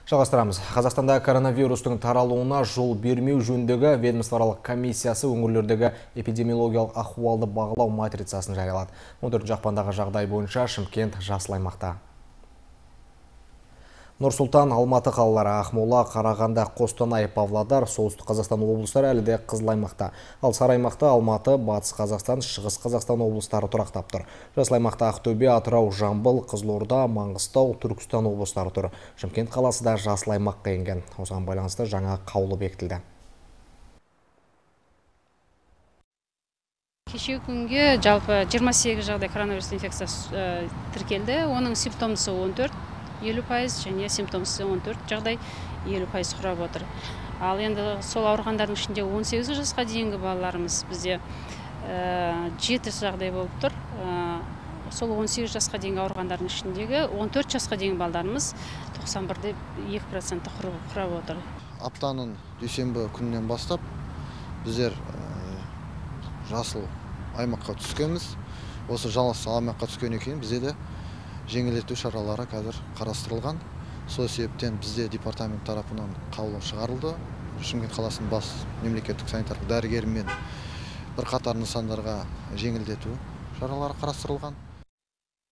Жалғастырамыз. Қазақстанда коронавирустың таралуына жол бермеу жөніндегі ведомствоаралық комиссиясы өңірлердегі эпидемиологиялық ахуалды бағалау матрицасын жариялады. 14 ақпандағы жағдай бойынша Шымкент жасыл аймақта. Нұр-Сұлтан, Алматы қалалары, Ақмола, Қарағанды, Қостанай, Павлодар, Солтүстік Қазақстан облыстары әлі де қызыл аймақта. Ал сары аймақта Алматы, Батыс Қазақстан, Шығыс Қазақстан облыстары тұрақтап тұр. Жасыл аймақта Ақтөбе, Атырау, Жамбыл, Қызылорда, Маңғыстау, Түркістан облыстары тұр. Шымкент қаласы да жасыл аймаққа енген. Осыған байланысты жаңа қаулы бекітілді. Кеше күнге жалпы 28 жағдай коронавирус инфекциясы тіркелді. Оның симптомсы 14, 50% және симптомсыз 14 жағдай 50% құрап отыр. Ал енді сол ауырғандардың ішінде 18 жасқа дейінгі балаларымыз бізде 7 жағдай болып тұр. Сол 18 жасқа дейінгі ауырғандардың ішіндегі 14 жасқа дейінгі балаларымыз 91,2% құрап отыр. Аптаның дүйсенбі күнінен бастап біздер жасыл аймаққа түскенбіз. Осы жасыл аймаққа түскеннен кейін бізде де жеңілдету шаралары қазір қарастырылған. Сол себептен бізде департамент тарапынан қаулы шығарылды. Шымкент қаласының бас мемлекеттік санитарлық дәрігерімен бірқатар нысандарға жеңілдету шаралары қарастырылған.